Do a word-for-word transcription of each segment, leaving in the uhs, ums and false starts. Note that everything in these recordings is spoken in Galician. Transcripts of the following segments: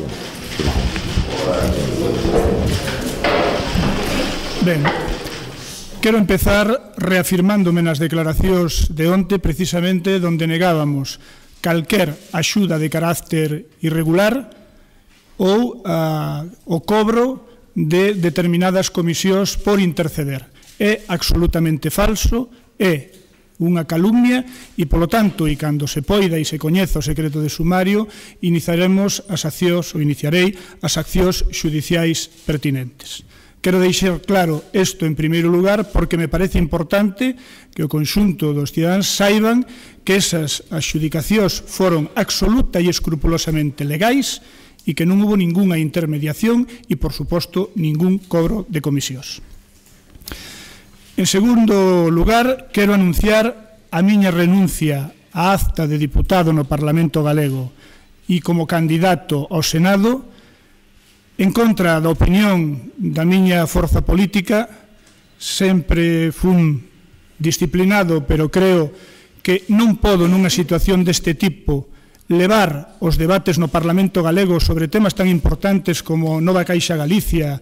información. Ben, quero empezar reafirmándome nas declaracións de onte precisamente onde negábamos calquer axuda de carácter irregular ou a, o cobro de determinadas comisións por interceder. É absolutamente falso, é unha calumnia e, polo tanto, e cando se poida e se coñeza o secreto de sumario, iniciaremos as accións, ou iniciarei, as accións xudiciais pertinentes. Quero deixar claro isto en primeiro lugar porque me parece importante que o conxunto dos cidadáns saiban que esas adxudicacións foron absoluta e escrupulosamente legais e que non hubo ningunha intermediación e, por suposto, ningún cobro de comisións. En segundo lugar, quero anunciar a miña renuncia á acta de diputado no Parlamento Galego e como candidato ao Senado en contra da opinión da miña forza política. Sempre fun disciplinado, pero creo que non podo nunha situación deste tipo levar os debates no Parlamento Galego sobre temas tan importantes como Nova Caixa Galicia,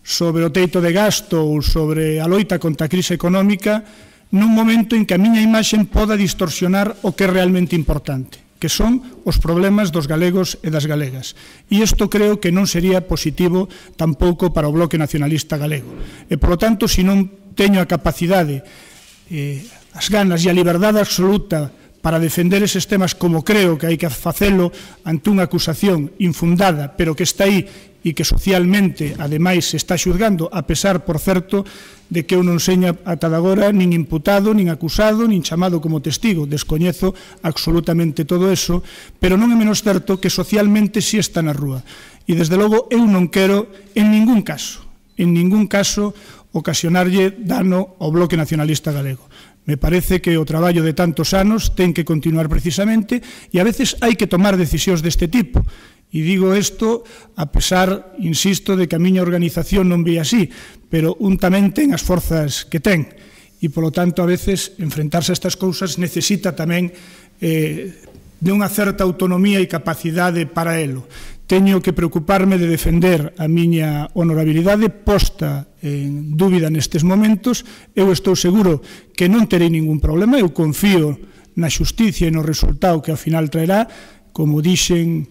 sobre o teito de gasto ou sobre a loita contra a crise económica, nun momento en que a miña imaxe poda distorsionar o que é realmente importante, que son os problemas dos galegos e das galegas. E isto creo que non sería positivo tampouco para o Bloque Nacionalista Galego. E, polo tanto, se non teño a capacidade, eh, as ganas e a liberdade absoluta para defender eses temas como creo que hai que facelo ante unha acusación infundada, pero que está aí e que socialmente, ademais, se está xulgando, a pesar, por certo, de que eu non seña ata agora nin imputado, nin acusado, nin chamado como testigo. Descoñezo absolutamente todo eso, pero non é menos certo que socialmente si está na rúa. E, desde logo, eu non quero, en ningún caso, en ningún caso, ocasionarlle dano ao Bloque Nacionalista Galego. Me parece que o traballo de tantos anos ten que continuar precisamente e a veces hai que tomar decisións deste tipo. E digo isto a pesar, insisto, de que a miña organización non ve así, pero un tamén ten as forzas que ten. E, polo tanto, a veces, enfrentarse a estas cousas necesita tamén eh, de unha certa autonomía e capacidade para elo. Teño que preocuparme de defender a miña honorabilidade posta en dúbida nestes momentos. Eu estou seguro que non terei ningún problema. Eu confío na xusticia e no resultado que ao final traerá. Como dixen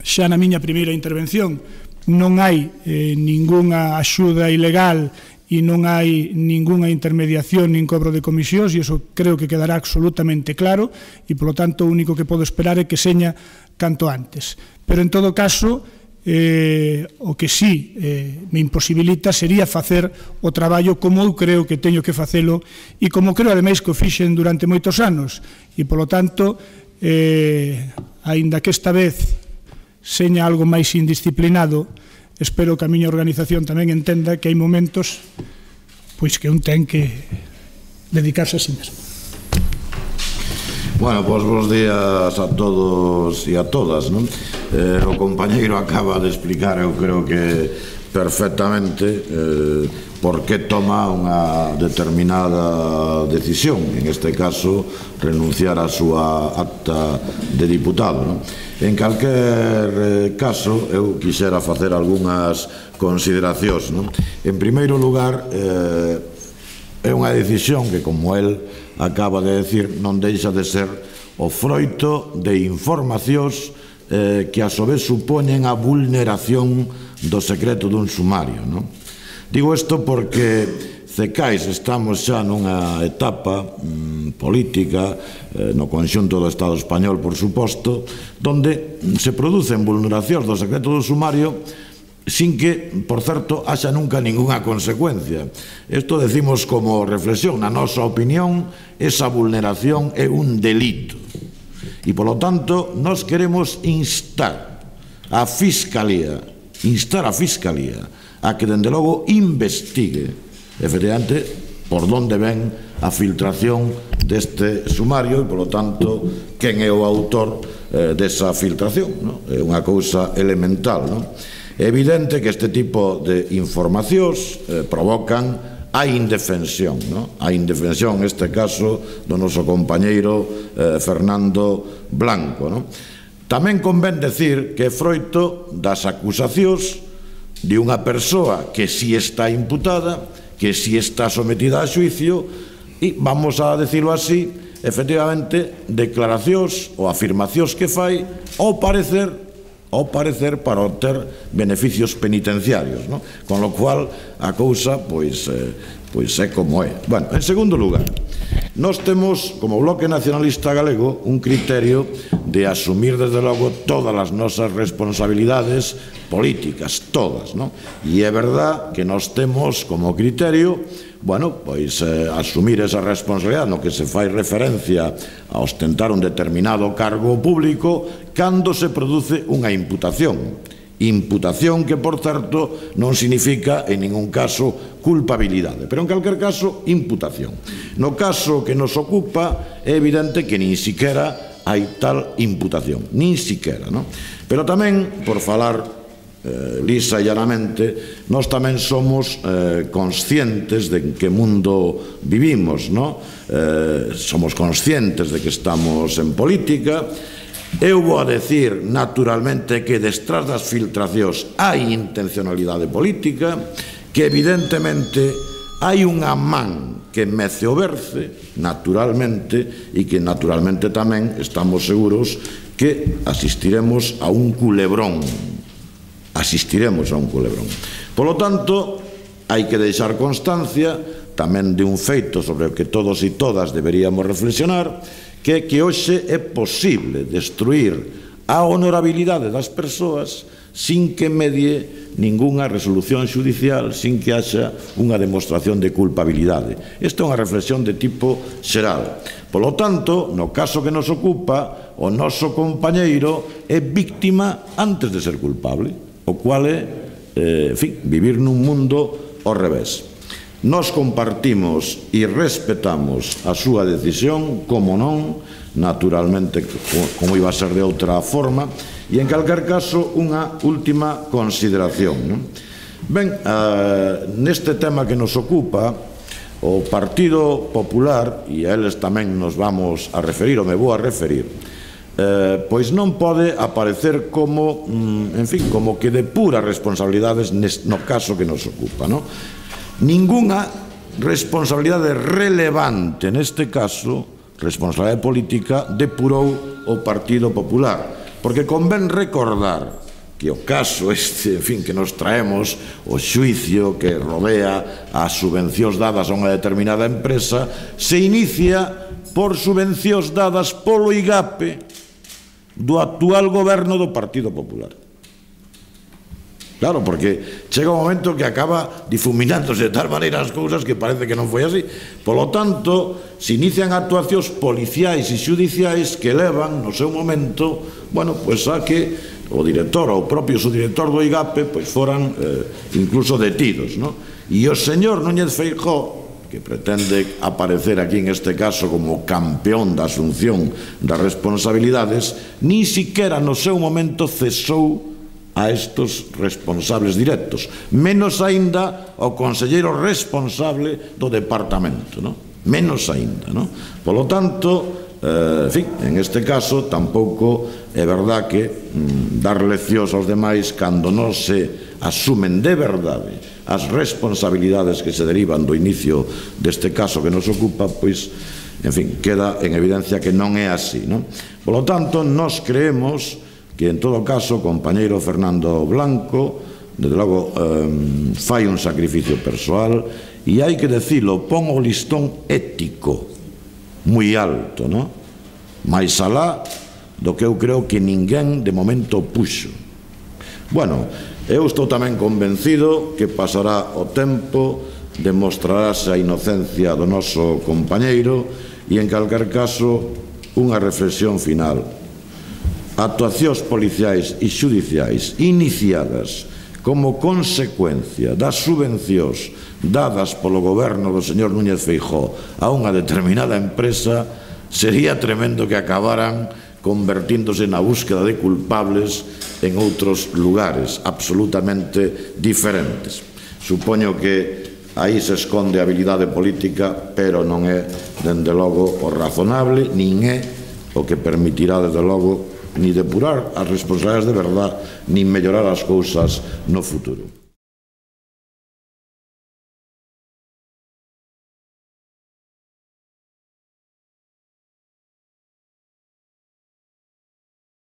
xa na miña primeira intervención, non hai eh, ningunha axuda ilegal e non hai ningunha intermediación nin cobro de comisións, e iso creo que quedará absolutamente claro, e, polo tanto, o único que podo esperar é que seña canto antes. Pero, en todo caso, eh, o que sí eh, me imposibilita sería facer o traballo como eu creo que teño que facelo e como creo, ademais, que o fixen durante moitos anos. E, polo tanto, eh, aínda que esta vez seña algo máis indisciplinado, espero que a miña organización tamén entenda que hai momentos pois que un ten que dedicarse a si mesmo. Bueno, pois bons días a todos e a todas, non? Eh, o compañeiro acaba de explicar, eu creo que perfectamente, eh, por que toma unha determinada decisión, en este caso, renunciar á súa acta de diputado, non? En calquer caso, eu quixera facer algunhas consideracións, non? En primeiro lugar, eh, é unha decisión que, como el acaba de decir, non deixa de ser o froito de informacións eh, que a su vez supoñen a vulneración do secreto dun sumario, non? Digo isto porque Cecais estamos xa nunha etapa mm, política eh, no conxunto do Estado español, por suposto, donde se producen vulneracións do secreto do sumario sin que, por certo, haxa nunca ninguna consecuencia. Isto decimos como reflexión. Na nosa opinión, esa vulneración é un delito. E, polo tanto, nós queremos instar a Fiscalía, instar a Fiscalía a que, dende logo, investigue efectivamente por onde ven a filtración deste sumario e, polo tanto, quen é o autor eh, desa filtración, non? É unha cousa elemental, non? É evidente que este tipo de informacións eh, provocan a indefensión, non? A indefensión, neste caso, do noso compañeiro eh, Fernando Blanco, non? Tamén convén decir que é froito das acusacións de unha persoa que si está imputada, que si está sometida a xuicio, e, vamos a decirlo así, efectivamente, declaracións ou afirmacións que fai ao parecer, ao parecer para obter beneficios penitenciarios, non? Con lo cual, a cousa, pois, eh, pois é como é. Bueno, en segundo lugar, nós temos, como Bloque Nacionalista Galego, un criterio de asumir, desde logo, todas as nosas responsabilidades políticas, todas, non? E é verdad que nós temos como criterio, bueno, pois eh, asumir esa responsabilidade no que se fai referencia a ostentar un determinado cargo público cando se produce unha imputación. Imputación que, por certo, non significa en ningún caso culpabilidade, pero en calquer caso imputación. No caso que nos ocupa é evidente que nin siquera hai tal imputación, nin siquera, non? Pero tamén, por falar eh, lisa e llanamente, nós tamén somos eh, conscientes de en que mundo vivimos, non? Eh, somos conscientes de que estamos en política. Eu vou a decir, naturalmente, que detrás das filtracións hai intencionalidade política, que evidentemente hai unha man que mece o berce, naturalmente, e que naturalmente tamén estamos seguros que asistiremos a un culebrón. Asistiremos a un culebrón. Polo tanto, hai que deixar constancia tamén de un feito sobre o que todos e todas deberíamos reflexionar, que é que hoxe é posible destruir a honorabilidade das persoas sin que medie ningunha resolución xudicial, sin que haxa unha demostración de culpabilidade. Esta é unha reflexión de tipo xeral. Polo tanto, no caso que nos ocupa, o noso compañeiro é víctima antes de ser culpable, o cual é, eh, en fin, vivir nun mundo ao revés. Nós compartimos e respetamos a súa decisión, como non, naturalmente, como iba a ser de outra forma, e en calquer caso, unha última consideración, non? Ben, eh, neste tema que nos ocupa, o Partido Popular, e a eles tamén nos vamos a referir, ou me vou a referir, eh, pois non pode aparecer como, en fin, como que depura responsabilidades no caso que nos ocupa, non? Ningunha responsabilidade relevante neste caso, responsabilidade política, depurou o Partido Popular, porque convén recordar que o caso este, en fin, que nos traemos, o xuicio que rodea as subvencións dadas a unha determinada empresa, se inicia por subvencións dadas polo IGAPE do actual goberno do Partido Popular. Claro, porque chega un momento que acaba difuminándose de tal maneira as cousas que parece que non foi así. Polo tanto, se inician actuacións policiais e xudiciais que levan, no seu momento, bueno, pois a que o director ou o propio subdirector do IGAPE pois foran eh, incluso detidos, non? E o señor Núñez Feijóo, que pretende aparecer aquí en este caso como campeón da asunción das responsabilidades, ni siquiera no seu momento cesou a estos responsables directos, menos aínda ao conselleiro responsable do departamento, non? Menos aínda, non? Polo tanto, eh, en fin, en este caso tampouco é verdad que mm, dar leccións aos demais cando non se asumen de verdade as responsabilidades que se derivan do inicio deste caso que nos ocupa, pois, en fin, queda en evidencia que non é así, non? Polo tanto, nós creemos que, en todo caso, o compañeiro Fernando Blanco, desde logo, eh, fai un sacrificio persoal, e hai que decilo, pon o listón ético moi alto, non? Mais alá do que eu creo que ninguén de momento puxo. Bueno, eu estou tamén convencido que pasará o tempo, demostrarase a inocencia do noso compañeiro, e, en calquer caso, unha reflexión final. Actuacións policiais e xudiciais iniciadas como consecuencia das subvencións dadas polo goberno do señor Núñez Feijóo a unha determinada empresa, sería tremendo que acabaran convertíndose na búsqueda de culpables en outros lugares absolutamente diferentes. Supoño que aí se esconde a habilidade política, pero non é, dende logo, o razonable, nin é o que permitirá, desde logo, ni depurar as responsabilidades de verdad, nin mellorar as cousas no futuro.